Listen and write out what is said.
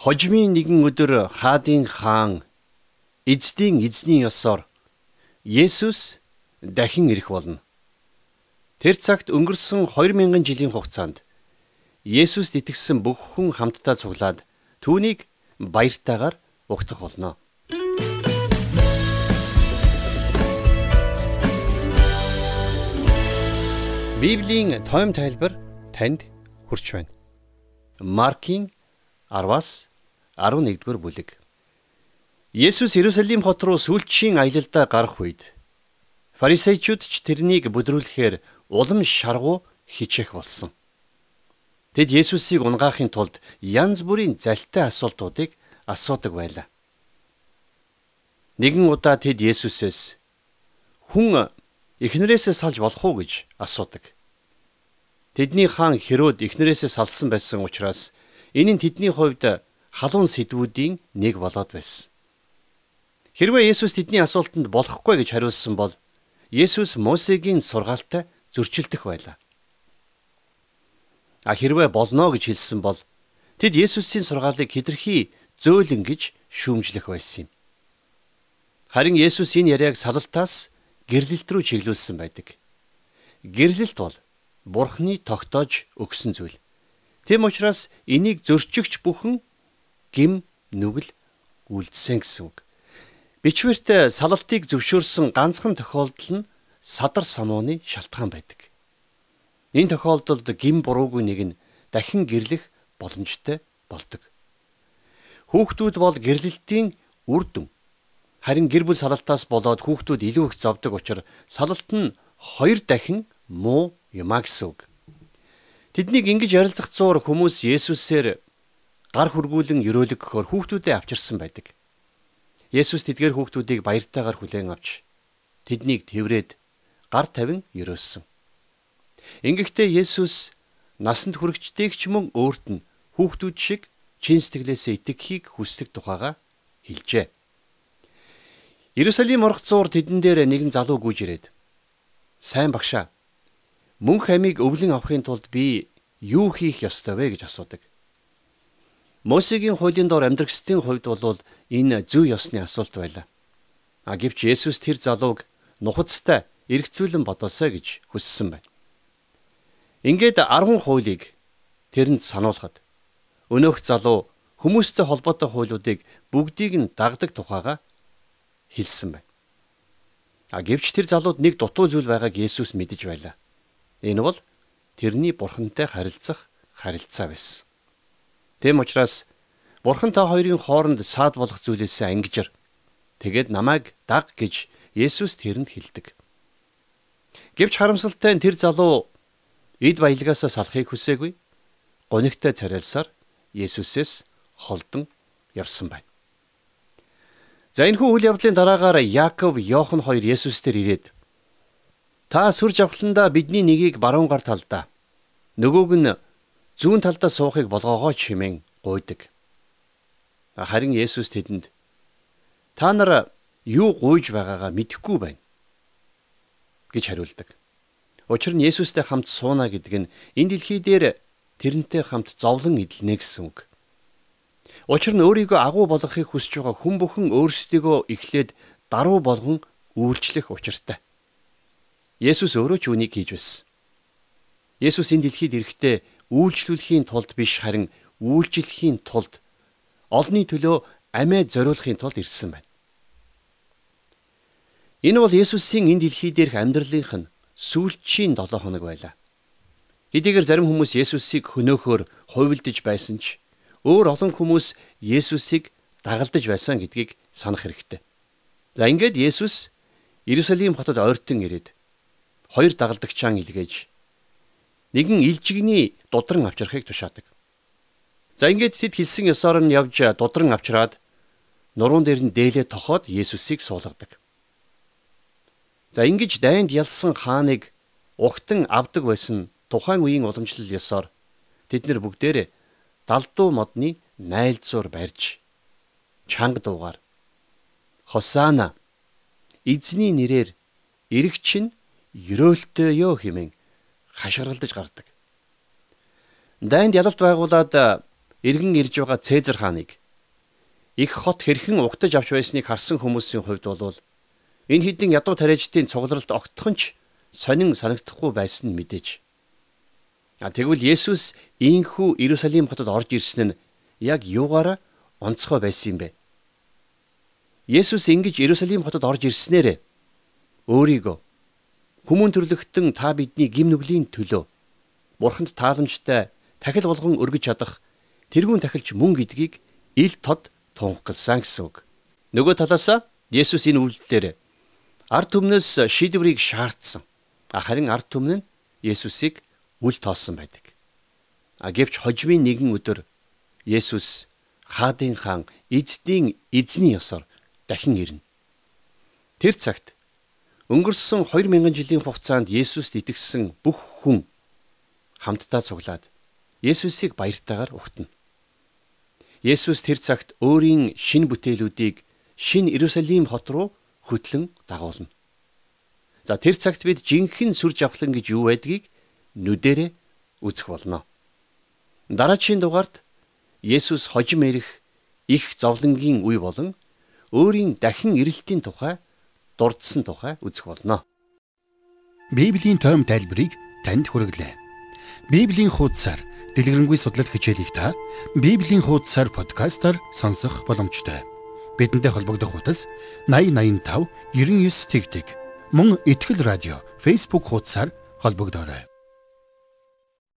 Хожимын нэгэн өдөр хаадын хаан эзний ёсоор Есүс дахин ирэх болно. Тэр цагт өнгөрсөн 2000 жилийн хугацаанд Есүст итгэсэн бүх хүн хамтдаа цуглаад түүнийг баяртайгаар угтах болно. Библийн тойм тайлбар танд хүрч байна. Маркийн 10-аас 11-р бүлэг. Есүс Иерусалим хот руу сүүлчийн аялалдаа гарах үед фарисеучуд ч тэрнийг бүдрүүлэхээр улам шаргуу хичээх болсон. Тэд Есүсийг унгаахын тулд янз бүрийн залтай асуултуудыг асуудаг байлаа. Нэгэн удаа тэд Есүсээс хүн эхнэрээсээ салж болох уу гэж асуудаг. Тэдний хаан Херод эхнэрээсээ салсан байсан учраас энэ нь тэдний хувьд халуун сэдвүүдийн нэг болоод байсан. Хэрвээ Есүс тэдний асуултанд болохгүй гэж хариулсан бол Есүс Мосегийн сургаалтай зөрчилдөх байлаа. Хэрвээ болно гэж хэлсэн бол тэд Есүсийн сургаалыг хэтэрхий зөөлөн гэж шүүмжлэх байсан юм. Харин Есүс энэ яриаг салалтаас гэрлэлт рүү чиглүүлсэн байдаг. Гэрлэлт бол Бурхны тогтоож өгсөн зүйл. Тэм учраас энийг зөрчигч бүхэн гим нүгэл үлдсэн гэсэн үг. Бичвэрт салалтыг зөвшөөрсөн ганцхан тохиолдол нь садар самууны шалтгаан байдаг. Энэ тохиолдолд гим буруугүй нэг нь дахин гэрлэх боломжтой болдог. Хүүхдүүд бол гэрлэлтийн үр дүн. Харин гэр бүл салалтаас болоод хүүхдүүд илүү их зовдөг учраас салалт нь 2 дахин муу юмаа гэсэн үг. Тэднийг ингэж ярилцах зуур хүмүүс Есүсээр гар хүргүүлэн өрөөлөгөхөөр хүүхдүүдээ авчирсан байдаг. Есүс тэдгээр хүүхдүүдийг баяртайгаар хүлээн авч тэднийг тэврээд гар тавин өрөөссөн. Ингэхдээ Есүс насанд хүрэгчдийг ч мөн өөрт нь хүүхдүүд шиг чин сэтгэлээсээ итгэхийг хүсдэг тухайга хэлжээ. Иерусалим орох зуур тэдэн дээр нэгэн залуу гүйж ирээд "Сайн багшаа, мөнх амийг өвлөн авахын тулд би юу хийх ёстой вэ?" гэж асуудаг. Мосегийн хуулийн дор амьдрагчдын хувьд бол энэ зөв ёсны асуулт байлаа. Гэвч Есүс тэр залууг нухацтай эргцүүлэн бодоосой гэж хүссэн байна. Ингээд 10 хуулийг тэрэнд сануулхад өнөөх залуу хүмүүстэй холбоотой хуулиудыг бүгдийг нь дагдаг тухайга хэлсэн байна. Гэвч тэр залууд нэг дутуу зүйл байгааг Есүс мэдэж байлаа. Энэ бол тэрний Бурхантай харилцах харилцаа байсан. Тэм учраас Бурхан та хоёрын хооронд саад болох зүйлээсээ ангижир. Тэгээд намайг даг гэж Есүс тэрэнд хэлдэг. Гэвч харамсалтай нь тэр залуу эд баялгаасаа салахыг хүсээгүй. Гонигтай царайлсаар Есүсээс холдон явсан байна. За энэхүү үйл явдлын дараагаар Яаков, Иохан хоёр Есүстээр ирээд "Та сүр жавхландаа бидний нэгийг баруун гар талдаа, нөгөөг нь зүүн талдаа суухыг болгоогооч" хэмээн гуйдаг. Харин Есүс тэдэнд "Та нар юу гуйж байгаагаа мэдэхгүй байна" гэж хариулдаг. Учир нь Есүстэй хамт сууна гэдэг нь энэ дэлхий дээр тэрнтэй хамт зовлон эдэлнэ гэсэн үг. Учир нь өөрийгөө агуу болгохыг хүсэж байгаа хүн бүхэн өөрсдийгөө эхлээд даруй болгон үйлчлэх учиртай. Есүс өөрөө ч үнийг хийж байсан. Есүс энэ дэлхийд ирэхдээ үйлчлүүлэхийн тулд биш, харин үйлчлэхийн тулд олонний төлөө амиа зориулахын тулд ирсэн байна. Энэ бол Есүсийн энэ дэлхий дээрх амьдралынх нь сүүлчийн 7 хоног байлаа. Хэдийгээр зарим хүмүүс Есүсийг хөнөөхөөр хувилдаж байсан ч өөр олон хүмүүс Есүсийг дагалдаж байсан гэдгийг санах хэрэгтэй. За ингээд Есүс Иерусалим хотод ойртон ирээд 2 дагалдагчаан илгээж нэгэн илжигний дудран авчрахыг тушаадаг. За ингээд тэд хэлсэн ёсоор нь явж дудран авчраад нуруунд дээр нь дээлээ тохоод Есүсийг суулгадаг. За ингэж дайнд ялсан хааныг угтан авдаг байсан тухайн үеийн уламжлал ёсоор тэд нэр бүгдээрээ далдуу модны найлзуур барьж чанга дуугаар "Хосаана, эзний нэрээр ирэгч нь ерөөлтөө ёо" хэмээн хашгиралдаж гардаг. Дайнд ялалт байгуулад иргэн ирж байгаа Цэзар хааныг их хот хэрхэн угтаж авч байсныг харсан хүмүүсийн хувьд бол энэ хэдийн ядуу тариажтын цугларалд огтхон ч сонин санагдахгүй байсан нь мэдээж. Тэгвэл Есүс ийхүү Иерусалим хотод орж ирсэн нь яг юугаараа онцгой байсан юм бэ? Есүс ингэж Иерусалим хотод орж ирснээр өөрийгөө хүмүүн төрлөختөн та бидний гим нүглийн төлөө Бурханд тааламжтай тахил болгон өргөж чадах тэрүүн тахилч мөн гэдгийг ил тод тунхагласан гэсэн үг. Нөгөө талаасаа Есүс энэ үйлдэлээр ард түмнээс шийдвэрийг шаардсан. Харин ард түмэн нь Есүсийг үл тоосон байдаг. Гэвч хожимын нэгэн өдөр Есүс хаадын хаан эзэдийн эзний ёсоор дахин ирнэ. Тэр цагт өнгөрсөн 2000 жилийн хугацаанд Есүст итгэсэн бүх хүн хамтдаа цуглаад Есүсийг баяртайгаар угтана. Есүс тэр цагт өөрийн шинэ бүтээлүүдийг шинэ Иерусалим хот руу хөтлөн дагуулна. Тэр цагт бид жинхэнэ сүр жавхлан гэж юу байдгийг нүдэрээ үзэх болно. Дараагийн дугаард Есүс хожим ирэх их зовлонгийн үе болон өөрийн дахин ирэлтийн тухай дурдсан тухай үзэх болно. Библийн тойм тайлбарыг танд хүргэлээ. Библийн хуудасаар дэлгэрэнгүй судлал хичээлийг та Библийн хуудасаар подкастаар сонсох боломжтой. Бидэнтэй холбогдох хуудас 8085 99 мөн Итгэл радио Facebook хуудасаар холбогдоорой.